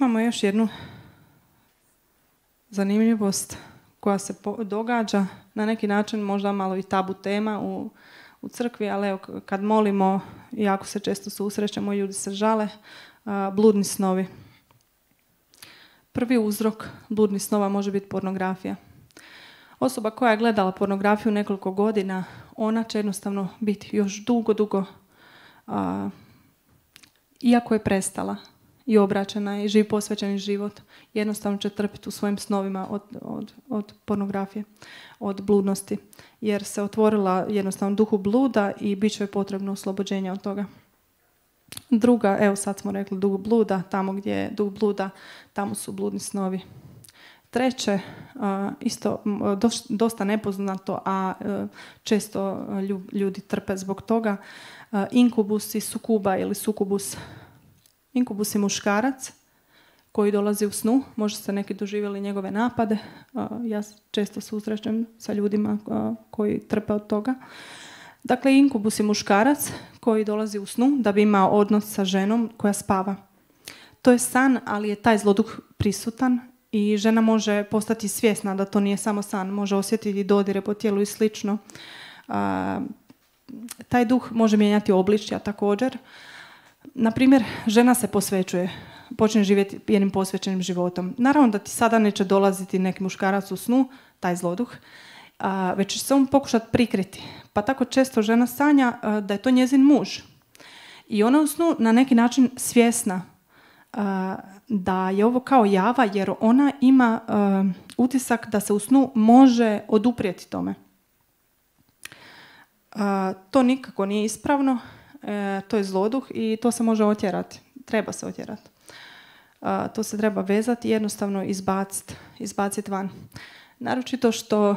Imamo još jednu zanimljivost koja se događa, na neki način možda malo i tabu tema u crkvi, ali evo, kad molimo, jako se često susrećemo, ljudi se žale, bludni snovi. Prvi uzrok bludnih snova može biti pornografija. Osoba koja je gledala pornografiju nekoliko godina, ona će jednostavno biti još dugo, iako je prestala i obraćena i živi posvećeni život, jednostavno će trpiti u svojim snovima od pornografije, od bludnosti, jer se otvorila jednostavno duhu bluda i bit će potrebno oslobođenje od toga. Druga, evo sad smo rekli duh bluda, tamo gdje je duh bluda, tamo su bludni snovi. Treće, isto dosta nepoznato, a često ljudi trpe zbog toga, inkubus i sukuba ili sukubus. Inkubus je muškarac koji dolazi u snu, možda ste neki doživjeli njegove napade, ja često susrećem sa ljudima koji trpe od toga. Dakle, inkubus je muškarac koji dolazi u snu da bi imao odnos sa ženom koja spava. To je san, ali je taj zloduh prisutan i žena može postati svjesna da to nije samo san, može osjetiti dodire po tijelu i slično. Taj duh može mijenjati obličja također. Naprimjer, žena se posvećuje, počne živjeti jednim posvećenim životom. Naravno da ti sada neće dolaziti neki muškarac u snu, taj zloduh, već će se on pokušati prikriti. Pa tako često žena sanja da je to njezin muž. I ona u snu na neki način svjesna da je ovo kao java, jer ona ima utisak da se u snu može oduprijeti tome. To nikako nije ispravno, to je zloduh i to se može otjerati. Treba se otjerati. To se treba vezati i jednostavno izbaciti van. Naročito što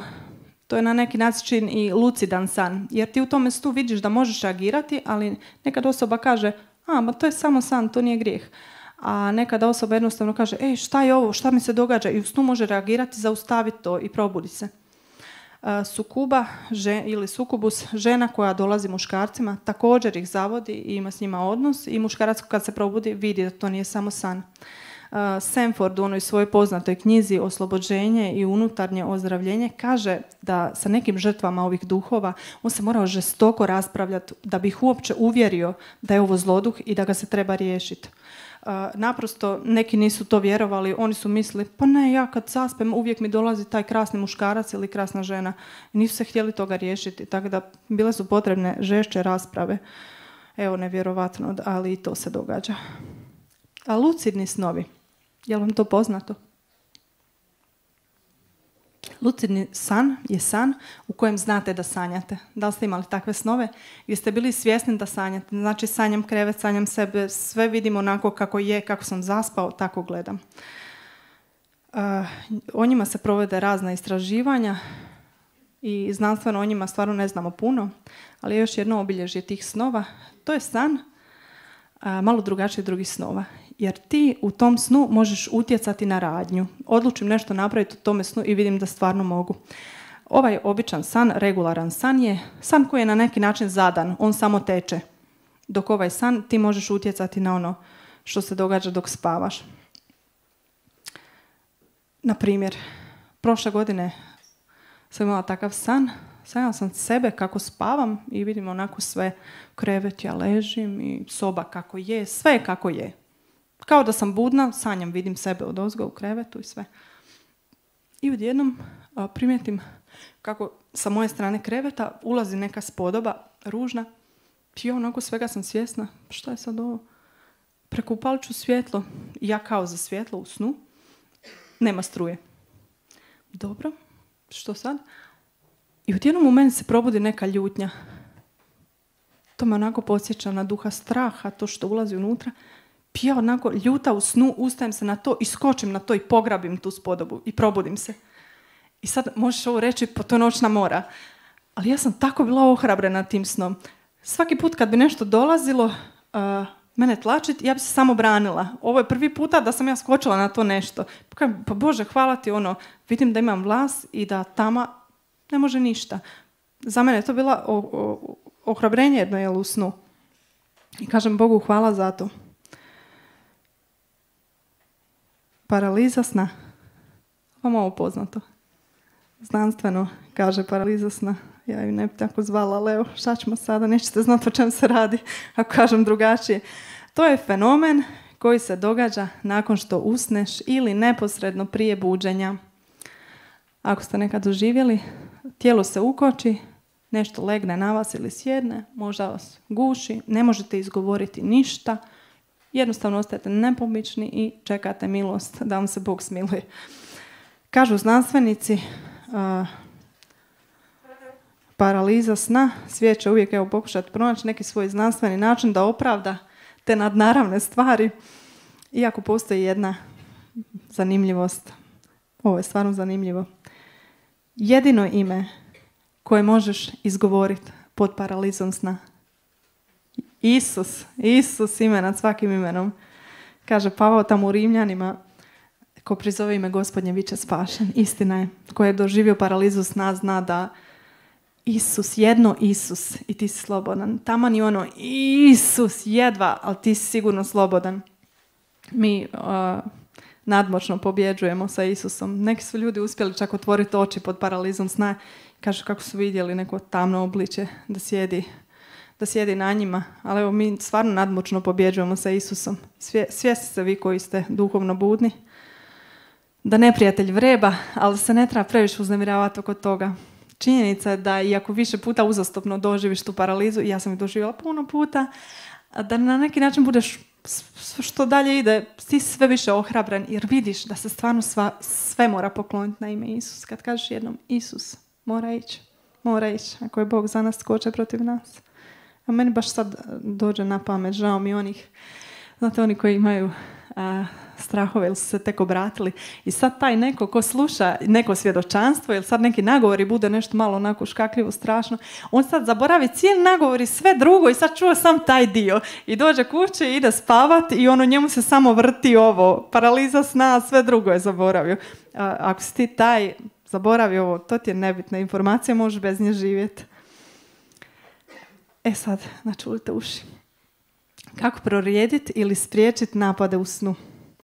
to je na neki način i lucidan san, jer ti u tome snu vidiš da možeš reagirati, ali nekad osoba kaže, ma to je samo san, to nije grijeh. A nekada osoba jednostavno kaže, šta je ovo, šta mi se događa, i u snu može reagirati, zaustaviti to i probudi se. Sukuba ili sukubus, žena koja dolazi muškarcima, također ih zavodi i ima s njima odnos i muškarac kad se probudi vidi da to nije samo san. Sanford u onoj svojoj poznatoj knjizi Oslobođenje i unutarnje ozdravljenje kaže da sa nekim žrtvama ovih duhova on se morao žestoko raspravljati da bi ih uopće uvjerio da je ovo zloduh i da ga se treba riješiti. Naprosto neki nisu to vjerovali, oni su mislili, pa ne, ja kad zaspem uvijek mi dolazi taj krasni muškarac ili krasna žena. I nisu se htjeli toga riješiti, tako da bile su potrebne žešće rasprave. Evo, nevjerovatno, ali i to se događa. A lucidni snovi, je li vam to poznato? Lucidni san je san u kojem znate da sanjate. Da li ste imali takve snove? Gdje ste bili svjesni da sanjate? Znači, sanjam krevet, sanjam sebe, sve vidim onako kako je, kako sam zaspao, tako gledam. O njima se provode razna istraživanja i znanstveno o njima stvarno ne znamo puno, ali je još jedno obilježje tih snova. To je san malo drugačije drugih snova. Jer ti u tom snu možeš utjecati na radnju. Odlučim nešto napraviti u tome snu i vidim da stvarno mogu. Ovaj običan san, regularan san je san koji je na neki način zadan. On samo teče. Dok ovaj san ti možeš utjecati na ono što se događa dok spavaš. Na primjer, prošle godine sam imala takav san. Sanjala sam sebe kako spavam i vidim onako sve krevet, ja ležim i soba kako je, sve kako je. Kao da sam budna, sanjam, vidim sebe odozgo u krevetu i sve. I odjednom primijetim kako sa moje strane kreveta ulazi neka spodoba, ružna. I onako svega sam svjesna. Šta je sad ovo? Prekupalit ću svjetlo. Ja kao za svjetlo u snu. Nema struje. Dobro, što sad? I odjednom u meni se probudi neka ljutnja. To me onako podsjeća na duha straha, to što ulazi unutra. Ja onako ljuta u snu, ustajem se na to i skočim na to i pograbim tu spodobu i probudim se. I sad možeš ovo reći, pa to je noćna mora. Ali ja sam tako bila ohrabrena tim snom. Svaki put kad bi nešto dolazilo, mene tlačiti, ja bi se samo branila. Ovo je prvi puta da sam ja skočila na to nešto. Pa Bože, hvala ti, vidim da imam vlas i da tama ne može ništa. Za mene je to bila ohrabrenje jedno u snu. I kažem Bogu hvala za to. Paraliza sna. Vam ovo poznato? Znanstveno kaže paraliza sna. Ja ju ne bi tako zvala, ali evo, šta ćemo sada? Nećete znati o čem se radi, ako kažem drugačije. To je fenomen koji se događa nakon što usneš ili neposredno prije buđenja. Ako ste nekad doživjeli, tijelo se ukoči, nešto legne na vas ili sjedne, možda vas guši, ne možete izgovoriti ništa, jednostavno ostajete nepomični i čekate milost da vam se Bog smiluje. Kažu znanstvenici, paraliza sna, svijet će uvijek pokušati pronaći neki svoj znanstveni način da opravda te nadnaravne stvari, iako postoji jedna zanimljivost. Ovo je stvarno zanimljivo. Jedino ime koje možeš izgovoriti pod paralizom sna. Isus ime nad svakim imenom. Kaže Pavao tamo u Rimljanima, ko prizove ime Gospodnje bit će spašen. Istina je, ko je doživio paralizu sna zna da Isus, jedno Isus i ti si slobodan. Taman i ono Isus, jedva, ali ti si sigurno slobodan. Mi nadmoćno pobjeđujemo sa Isusom. Neki su ljudi uspjeli čak otvoriti oči pod paralizom sna. Kažu kako su vidjeli neko tamno obličje da sjedi na njima. Ali evo, mi stvarno nadmoćno pobjeđujemo sa Isusom. Svjesni ste vi koji ste duhovno budni da neprijatelj vreba, ali se ne treba previše uznemiravati oko toga. Činjenica je da iako više puta uzastopno doživiš tu paralizu, i ja sam ih doživjela puno puta, da na neki način budeš, što dalje ide, ti sve više ohrabren jer vidiš da se stvarno sve mora pokloniti na ime Isus. Kad kažeš jednom Isus, mora ići. Ako je Bog za nas, tko će protiv nas? A meni baš sad dođe na pamet, žao mi onih, znate, oni koji imaju strahove ili su se tek obratili i sad taj neko ko sluša neko svjedočanstvo ili sad neki nagovor i bude nešto malo onako škakljivo, strašno, on sad zaboravi cijeli nagovor i sve drugo i sad čuje sam taj dio i dođe kući i ide spavati i ono njemu se samo vrti ovo, paraliza sna, sve drugo je zaboravio. Ako si ti taj zaboravi ovo, to ti je nebitna informacija, možeš bez nje živjeti. Sad, načulite uši. Kako prorijediti ili spriječiti napade u snu?